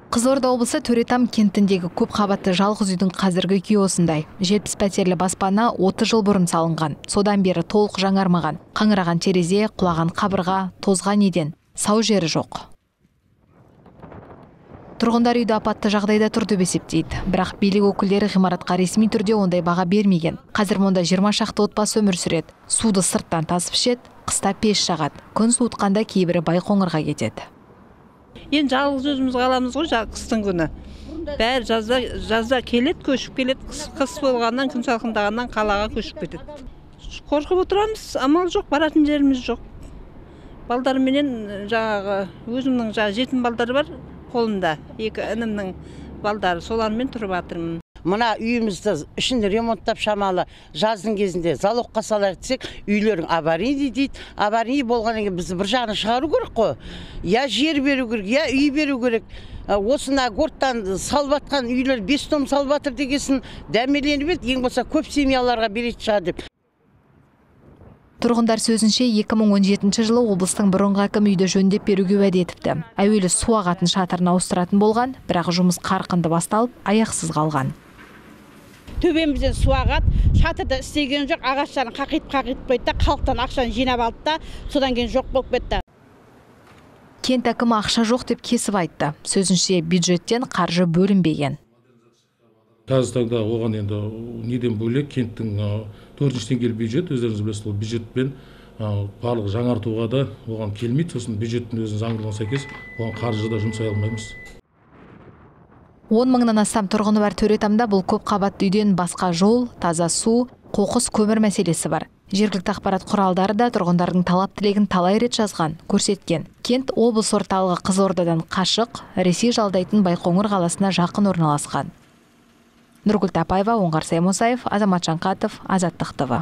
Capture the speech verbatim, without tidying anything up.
Қызылорда облысы Төретам кентіндегі көп қабатты жалғыз үйдің қазіргі күйі осындай. жетпіс пәтерлі баспана отыз жыл бұрын салынған. Содан бері толық жаңармаған. Қаңыраған терезе, құлаған қабырға, тозған еден, сау жері жоқ. Тұрғындар үйді апатты жағдайда тұр деп есептейді. Бірақ билік өкілдері ғимаратқа ресми түрде ондай баға бермеген. Қазір мұнда жиырма шақты отбасы өмір сүреді. Суды сырттан тасып ішеді, қыста пеш жағады. Күн суытқанда кейбірі Байқоңырға кетеді. Енді жалғыз өзіміз қаламыз ғой, қыстың күні. Бәрі жазда, жазда келеді, көшіп келеді, қыс болғаннан, күн салқындағаннан қалаға көшіп кетеді. Қорқып отырамыз, амал жоқ, баратын жеріміз жоқ. Балдарыменен жаңағы өзімнің жаңағы жетім балдары бар қолымда, екі інімнің балдары, солармен тұрып жатырмын. Мына үйімізді ішін ремонттап шамалы жаздың кезінде залогқа салайық десек, үйлерің аварийный дейді. Аварийный болғаннан кейін бізді бір жағына шығару керек қой. Я жер беру керек, я үй беру керек. Осына горттан салып жатқан үйлер бес том салып жатыр дегесін дәмеленіп еді, ең болса көп семьяларға беретін шығар деп. Тұрғындар сөзінше екі мың он жетінші жылы облыстың бұрынғы әкімі үйді жөндеп беруге уәде етіпті. Әуелі су ағатын шатырын ауыстыратын болған, бірақ жұмыс қарқынды басталып, аяқсыз қалған. Төбемізден су ағады, шатырда істеген жоқ, ағаштарын қақиып-қақиып қойды, халықтан ақшаны жинап алды да, содан кейін жоқ болып кетті. Кент әкімі ақша жоқ деп кесіп айтты. Сөзінше бюджеттен қаржы бөлінбеген. Қазір таңда оған енді неден бөлек кенттің төртінші деңгейлі бюджет, өздеріңіз білесіз, ол бюджетпен барлық жаңартуға да оған келмейді. Сосын бюджеттің өзінің заңдылығына сәйкес оған қаржы да жұмсай алмаймыз. он мыңнан астам тұрғыны бар Төретамда бұл көп қабатты үйден басқа жол, таза су, қоқыс, көмір мәселесі бар. Жергілікті ақпарат құралдары да тұрғындардың талап тілегін талай рет жазған, көрсеткен. Кент облыс орталығы Қызылордадан қашық, Ресей жалдайтын Байқоңыр қаласына жақын орналасқан. Нұргүл Тапаева, Оңғар Саймосаев, Азамат Жанқатов, Азаттық ТВ.